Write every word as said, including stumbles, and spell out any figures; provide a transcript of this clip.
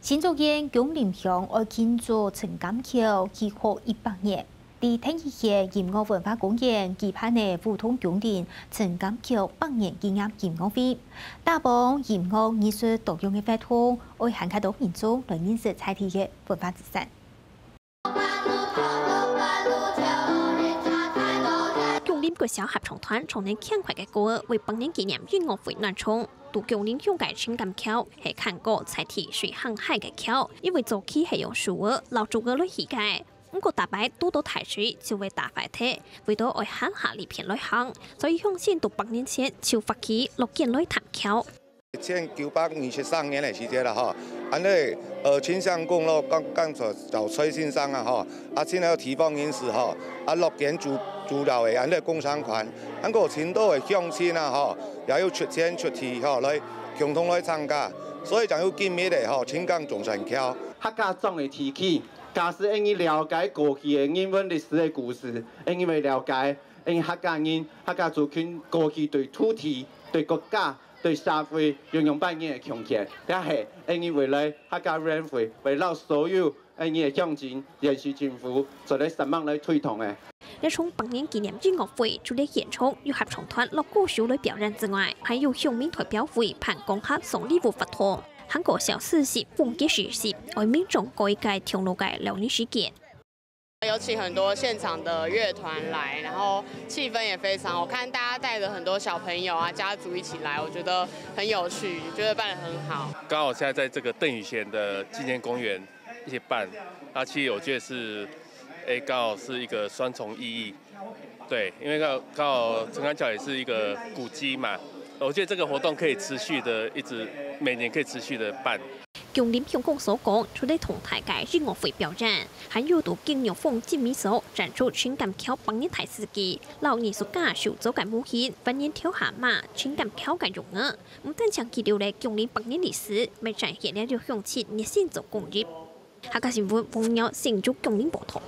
新竹縣芎林鄉愛慶祝陳柑橋起好一百年。在第二屆音樂文化公園舉辦个舞動芎林陳柑橋百年紀念音樂會，打幫音樂藝術多樣个活動，愛還較多民眾來認識在地个文化資產。 芎林國小合唱團唱等輕快个歌，為百年紀念音樂會暖場。在芎林鄉个陳柑橋係看過在地水很海个橋，因為早期係用樹仔摎竹仔來起个。毋過逐擺堵到大水就會打壞忒，為到愛行下這片來行，所以鄉親在百年前就發起落建來探橋。 一千九百二十三年个時節啦吼，恁呢，呃，陳相公咯，講講做找崔先生啊吼，啊，請了地方人士吼，啊，落建築主要个恁呢工商款，恁个盡多个鄉親啊吼，也有出錢出力吼，來共同來參加，所以正有今日个吼，陳柑中山橋。客家庄个地區，假使𫣆俚了解過去个人文歷史个故事，𫣆俚會了解，𫣆俚客家人、客家族群過去對土地、對國家、 對社會有仰般个貢獻，也係𫣆俚未來客家委員會會摎所有𫣆俚个鄉親聯繫政府，做得煞猛來推動个。這場百年紀念音樂會，除了現場有合唱團摎歌手來表演之外，還有鄉民代表會辦講客送禮物活動，還過小四喜風格市集，愛民眾過一個暢樂个尞年時間。 有請很多現場的樂團來，然後氣氛也非常好，我看大家帶著很多小朋友啊、家族一起來，我覺得很有趣，覺得辦得很好。剛好現在在這個鄧雨賢的紀念公園一起辦，那其實我覺得是，誒，剛好是一個雙重意義。對，因為剛好，剛好陳柑橋也是一個古蹟嘛，我覺得這個活動可以持續的一直，每年可以持續的辦。 芎林鄉公所講，除了同大个音樂會表演，還有在景玉峰精美所展出陳柑橋百年大事記，摎藝術家手做个模型，還原頭下馬陳柑橋个容貌。毋單淨記錄了芎林百年歷史，乜展現了鄉親熱心做公益。客家新聞，黃耀新竹芎林報導。